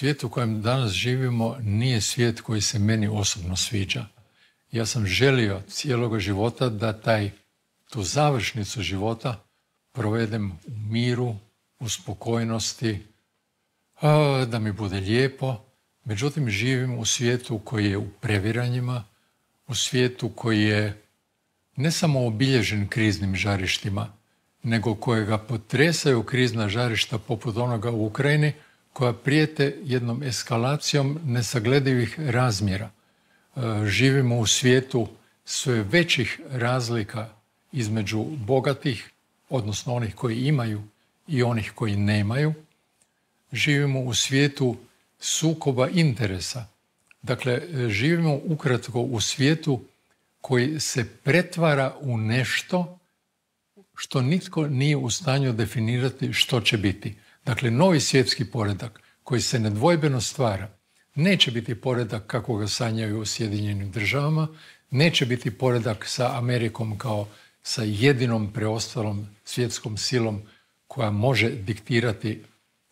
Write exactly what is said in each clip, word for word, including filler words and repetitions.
svijet u kojem danas živimo nije svijet koji se meni osobno sviđa. Ja sam želio cijeloga života da taj, tu završnicu života provedem u miru, u spokojnosti, da mi bude lijepo. Međutim, živim u svijetu koji je u previranjima, u svijetu koji je ne samo obilježen kriznim žarištima, nego kojega potresaju krizna žarišta poput onoga u Ukrajini, koja prijete jednom eskalacijom nesagledivih razmjera. Živimo u svijetu sve većih razlika između bogatih, odnosno onih koji imaju i onih koji nemaju. Živimo u svijetu sukoba interesa. Dakle, živimo ukratko u svijetu koji se pretvara u nešto što nitko nije u stanju definirati što će biti. Dakle, novi svjetski poredak koji se nedvojbeno stvara neće biti poredak kako ga sanjaju u Sjedinjenim državama, neće biti poredak sa Amerikom kao sa jedinom preostalom svjetskom silom koja može diktirati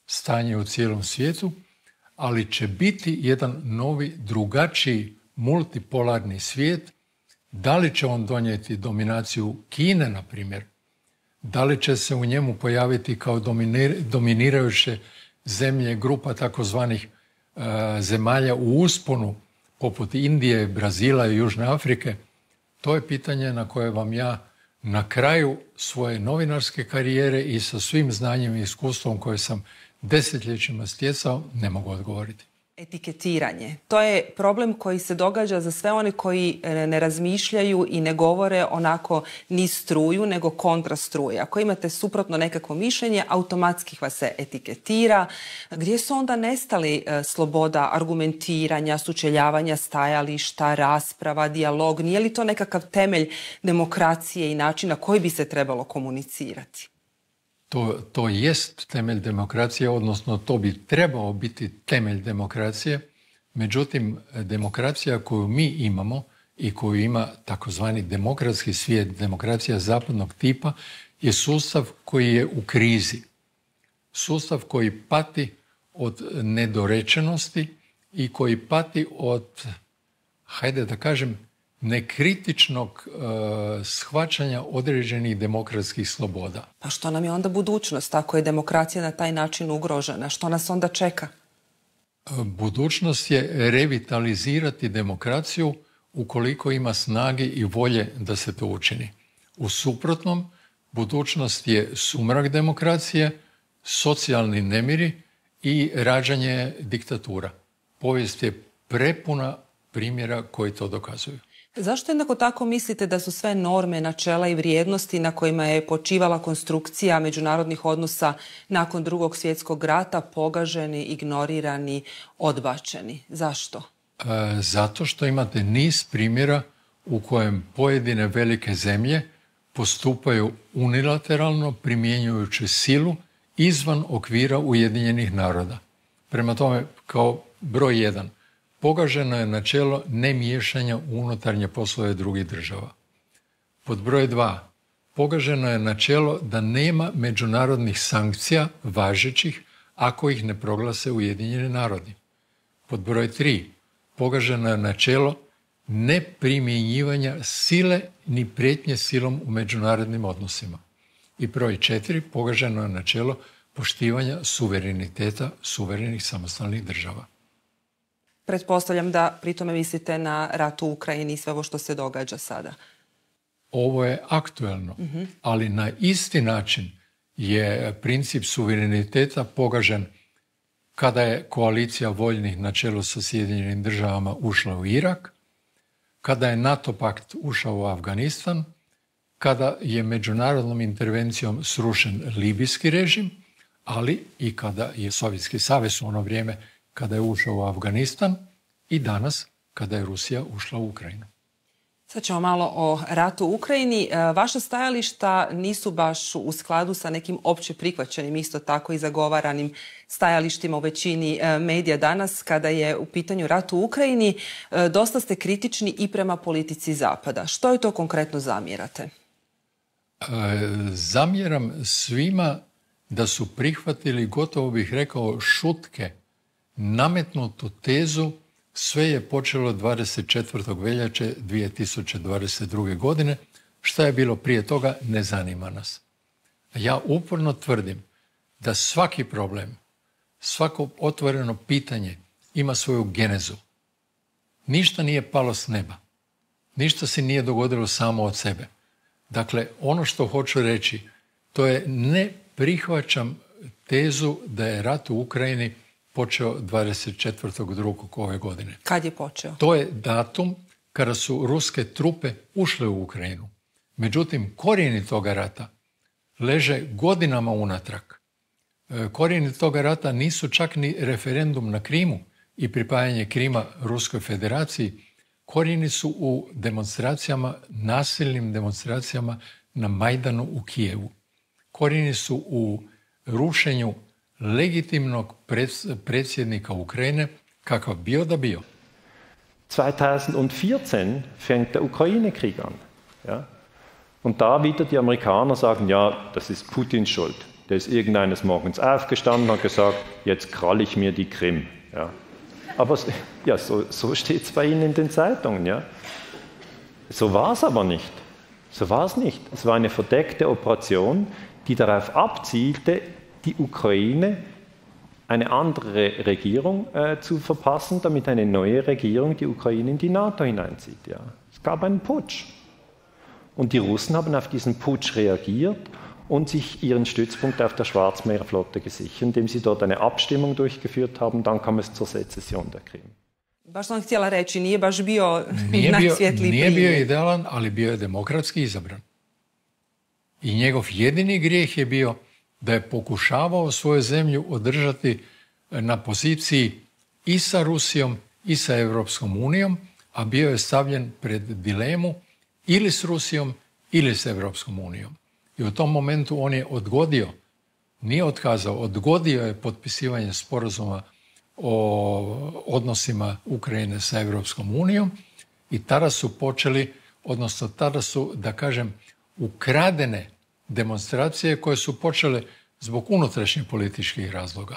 stanje u cijelom svijetu, ali će biti jedan novi, drugačiji, multipolarni svijet. Da li će on donijeti dominaciju Kine, na primjer? Da li će se u njemu pojaviti kao dominirajuće zemlje grupa takozvanih uh, zemalja u usponu, poput Indije, Brazila i Južne Afrike? To je pitanje na koje vam ja na kraju svoje novinarske karijere i sa svim znanjem i iskustvom koje sam desetljećima stjecao ne mogu odgovoriti. Etiketiranje. To je problem koji se događa za sve one koji ne razmišljaju i ne govore onako ni struju, nego kontra struje. Ako imate suprotno nekakvo mišljenje, automatski vas se etiketira. Gdje su onda nestali sloboda argumentiranja, sučeljavanja stajališta, rasprava, dijalog? Nije li to nekakav temelj demokracije i načina koji bi se trebalo komunicirati? To, to jest temelj demokracije, odnosno to bi trebao biti temelj demokracije. Međutim, demokracija koju mi imamo i koju ima takozvani demokratski svijet, demokracija zapadnog tipa, je sustav koji je u krizi. Sustav koji pati od nedorečenosti i koji pati od, hajde da kažem, nekritičnog uh, shvaćanja određenih demokratskih sloboda. Pa što nam je onda budućnost ako je demokracija na taj način ugrožena? Što nas onda čeka? Budućnost je revitalizirati demokraciju ukoliko ima snage i volje da se to učini. U suprotnom, budućnost je sumrak demokracije, socijalni nemiri i rađanje diktatura. Povijest je prepuna primjera koji to dokazuju. Zašto jednako tako mislite da su sve norme, načela i vrijednosti na kojima je počivala konstrukcija međunarodnih odnosa nakon Drugog svjetskog rata pogaženi, ignorirani, odbačeni? Zašto? E, zato što imate niz primjera u kojem pojedine velike zemlje postupaju unilateralno primjenjujući silu izvan okvira Ujedinjenih naroda. Prema tome, kao broj jedan, pogaženo je načelo nemiješanja u unutarnje poslove drugih država. Pod broj dva, pogaženo je načelo da nema međunarodnih sankcija važećih ako ih ne proglase Ujedinjeni narodi. Pod broj tri, pogaženo je načelo neprimjenjivanja sile ni prijetnje silom u međunarodnim odnosima. I broj četiri, pogaženo je načelo poštivanja suvereniteta suverenih samostalnih država. Pretpostavljam da pri tome mislite na rat u Ukrajini i sve ovo što se događa sada. Ovo je aktuelno, uh-huh. ali na isti način je princip suvereniteta pogažen kada je koalicija voljnih na čelu sa Sjedinjenim državama ušla u Irak, kada je NATO pakt ušao u Afganistan, kada je međunarodnom intervencijom srušen libijski režim, ali i kada je Sovjetski savez u ono vrijeme kada je ušao u Afganistan i danas kada je Rusija ušla u Ukrajinu. Sad ćemo malo o ratu u Ukrajini. Vaša stajališta nisu baš u skladu sa nekim opće prihvaćenim, isto tako i zagovaranim stajalištima u većini medija danas kada je u pitanju rat u Ukrajini. Dosta ste kritični i prema politici Zapada. Što je to konkretno zamjerate? E, zamjeram svima da su prihvatili, gotovo bih rekao, šutke nametnutu tezu sve je počelo dvadeset četvrtog veljače dvije tisuće dvadeset druge. godine. Šta je bilo prije toga, ne zanima nas. Ja uporno tvrdim da svaki problem, svako otvoreno pitanje ima svoju genezu. Ništa nije palo s neba. Ništa se nije dogodilo samo od sebe. Dakle, ono što hoću reći, to je ne prihvaćam tezu da je rat u Ukrajini počeo dvadeset četvrtog drugog ove godine. Kad je počeo? To je datum kada su ruske trupe ušle u Ukrajinu. Međutim, korijeni toga rata leže godinama unatrag. Korijeni toga rata nisu čak ni referendum na Krimu i pripajanje Krima Ruskoj federaciji. Korijeni su u demonstracijama, nasilnim demonstracijama na Majdanu u Kijevu. Korijeni su u rušenju legitimnog predsjednika Ukrajine, kakav bio da bio. zweitausendvierzehn fängt der Ukraine-Krieg an. Ja? Und da wieder die Amerikaner sagen, ja, das ist Putins Schuld. Der ist irgendeines Morgens aufgestanden und hat gesagt, jetzt kralle ich mir die Krim. Ja? Aber ja, so, so steht es bei Ihnen in den Zeitungen. Ja? So war es aber nicht. So war es nicht. Es war eine verdeckte Operation, die darauf abzielte, die Ukraine eine andere Regierung äh, zu verpassen, damit eine neue Regierung die Ukraine in die NATO hineinzieht. Ja. Es gab einen Putsch. Und die Russen haben auf diesen Putsch reagiert und sich ihren Stützpunkt auf der Schwarzmeerflotte gesichert, indem sie dort eine Abstimmung durchgeführt haben. Dann kam es zur Sezession der Krim. Baš sam htjela reći, nije baš bio nije najsvjetliji Nije bio primjer. idealan, ali bio je demokratski izabran. I njegov jedini grijeh je bio da je pokušavao svoju zemlju održati na poziciji i sa Rusijom i sa Europskom unijom, a bio je stavljen pred dilemu ili s Rusijom ili s Europskom unijom. I u tom momentu on je odgodio, nije otkazao, odgodio je potpisivanje sporazuma o odnosima Ukrajine sa Europskom unijom i tada su počeli, odnosno tada su, da kažem, ukradene demonstracije koje su počele zbog unutrašnjih političkih razloga.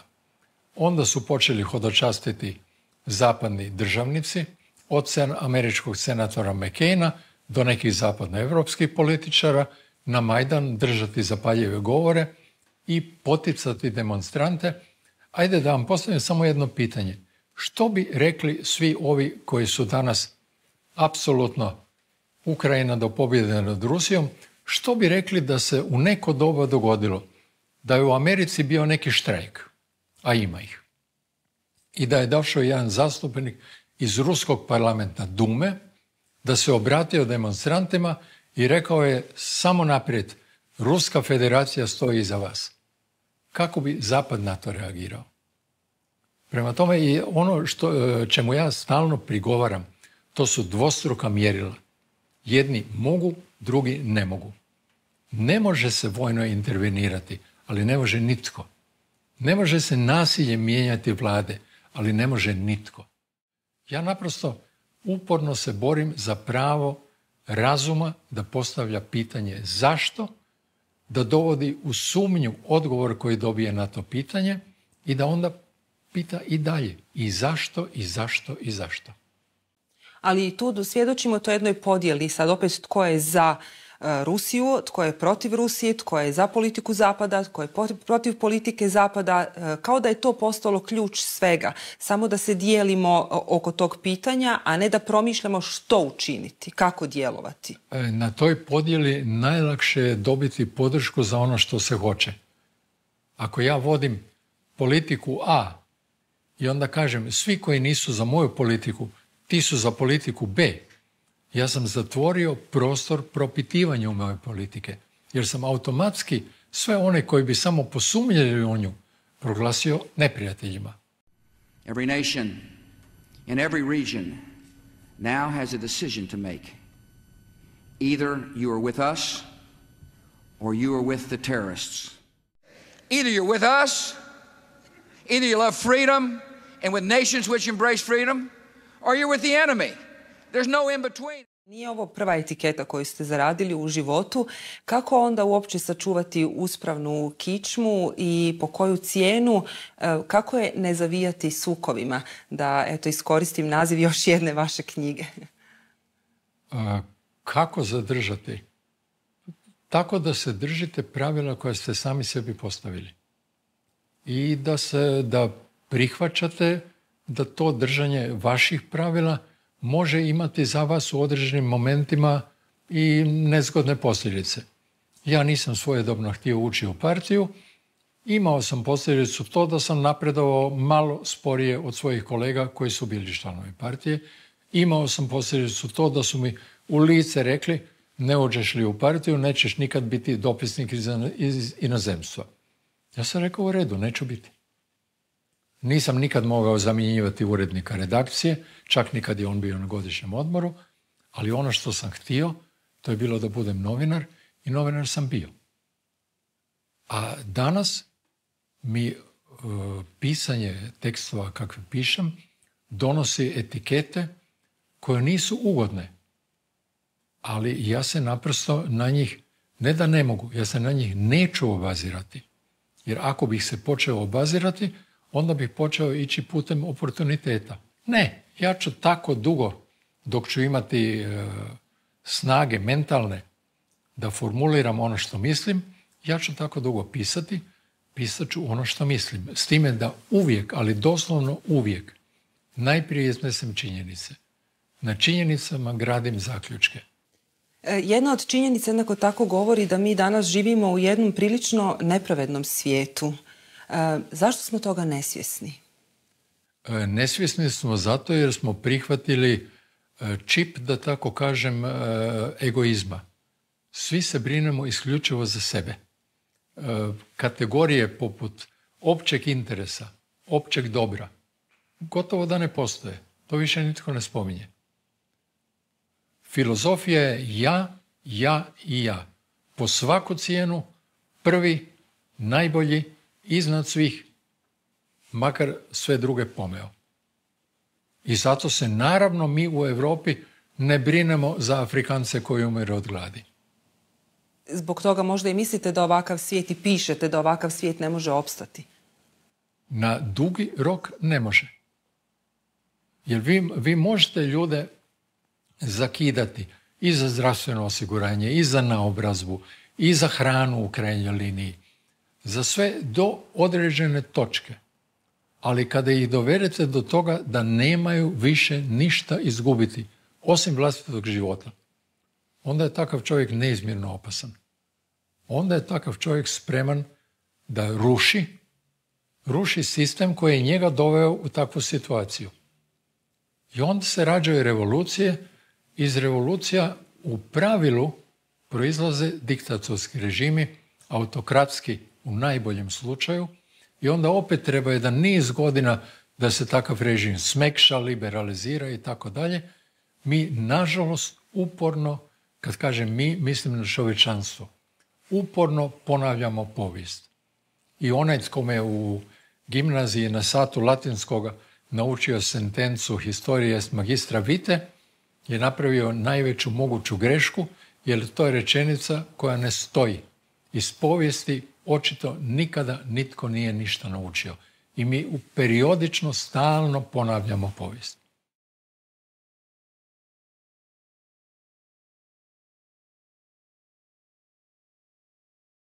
Onda su počeli hodočastiti zapadni državnici, od američkog senatora McCaina do nekih zapadnoevropskih političara, na Majdan držati zapaljive govore i poticati demonstrante. Ajde da vam postavim samo jedno pitanje. Što bi rekli svi ovi koji su danas apsolutno Ukrajina do pobjede nad Rusijom, što bi rekli da se u neko doba dogodilo da je u Americi bio neki štrajk, a ima ih, i da je došao jedan zastupnik iz ruskog parlamenta Dume, da se obratio demonstrantima i rekao je samo naprijed, Ruska federacija stoji iza vas. Kako bi Zapad na to reagirao? Prema tome, i ono što, čemu ja stalno prigovaram, to su dvostruka mjerila. Jedni mogu, drugi ne mogu. Ne može se vojno intervenirati, ali ne može nitko. Ne može se nasilje mijenjati vlade, ali ne može nitko. Ja naprosto uporno se borim za pravo razuma da postavlja pitanje zašto, da dovodi u sumnju odgovor koji dobije na to pitanje i da onda pita i dalje i zašto, i zašto, i zašto. Ali tu svjedočimo to jednoj podjeli, sad opet tko je za Rusiju, tko je protiv Rusije, tko je za politiku Zapada, tko je protiv politike Zapada, kao da je to postalo ključ svega. Samo da se dijelimo oko tog pitanja, a ne da promišljamo što učiniti, kako djelovati. Na toj podjeli najlakše je dobiti podršku za ono što se hoće. Ako ja vodim politiku A i onda kažem svi koji nisu za moju politiku, ti su za politiku B, ja sam zatvorio prostor propitivanju moje politike, jer sam automatski sve one koji bi samo posumnjali u nju proglasio neprijateljima. Every nation in every region now has a decision to make. Either you are with us or you are with the terrorists. Either you're with us, either you love freedom and with nations which embrace freedom, or you're with the enemy. There's no in between. Nije ovo prva etiketa koju ste zaradili u životu. Kako onda uopće sačuvati uspravnu kičmu i po koju cijenu? Kako je ne zavijati sukovima? Da, eto, iskoristim naziv još jedne vaše knjige. A, kako zadržati? Tako da se držite pravila koje ste sami sebi postavili. I da se, da prihvaćate da to držanje vaših pravila može imati za vas u određenim momentima i nezgodne posljedice. Ja nisam svojedobno htio ući u partiju. Imao sam posljedicu to da sam napredovao malo sporije od svojih kolega koji su bili članovi partije. Imao sam posljedicu to da su mi u lice rekli ne uđeš li u partiju, nećeš nikad biti dopisnik iz inozemstva. Ja sam rekao u redu, neću biti. Nisam nikad mogao zamjenjivati urednika redakcije, čak nikad je on bio na godišnjem odmoru, ali ono što sam htio, to je bilo da budem novinar i novinar sam bio. A danas mi e, pisanje tekstova kakve pišem donosi etikete koje nisu ugodne, ali ja se naprosto na njih, ne da ne mogu, ja se na njih neću obazirati. Jer ako bih se počeo obazirati, onda bih počeo ići putem oportuniteta. Ne, ja ću tako dugo, dok ću imati e, snage mentalne da formuliram ono što mislim, ja ću tako dugo pisati, pisat ću ono što mislim. S time da uvijek, ali doslovno uvijek, najprije iznesem činjenice. Na činjenicama gradim zaključke. Jedna od činjenica jednako tako govori da mi danas živimo u jednom prilično nepravednom svijetu. E, zašto smo toga nesvjesni? E, nesvjesni smo zato jer smo prihvatili e, čip, da tako kažem, e, egoizma. Svi se brinemo isključivo za sebe. E, kategorije poput općeg interesa, općeg dobra, gotovo da ne postoje. To više nitko ne spominje. Filozofija je ja, ja i ja. Po svaku cijenu, prvi, najbolji, iznad svih, makar sve druge pomeo. I zato se naravno mi u Europi ne brinemo za Afrikance koji umiru od gladi. Zbog toga možda i mislite da ovakav svijet i pišete da ovakav svijet ne može opstati? Na dugi rok ne može. Jer vi, vi možete ljude zakidati i za zdravstveno osiguranje, i za naobrazbu, i za hranu u krajnjoj liniji. Za sve do određene točke. Ali kada ih dovedete do toga da nemaju više ništa izgubiti, osim vlastitog života, onda je takav čovjek neizmjerno opasan. Onda je takav čovjek spreman da ruši, ruši sistem koji je njega doveo u takvu situaciju. I onda se rađaju revolucije. Iz revolucija u pravilu proizlaze diktatorski režimi, autokratski u najboljem slučaju, i onda opet treba jedan niz godina da se takav režim smekša, liberalizira i tako dalje. Mi, nažalost, uporno, kad kažem mi, mislim na čovječanstvo, uporno ponavljamo povijest. I onaj tko me u gimnaziji na satu latinskoga naučio sentencu historia est magistra vitae, je napravio najveću moguću grešku, jer to je rečenica koja ne stoji. Iz povijesti očito nikada nitko nije ništa naučio. I mi periodično stalno ponavljamo povijest.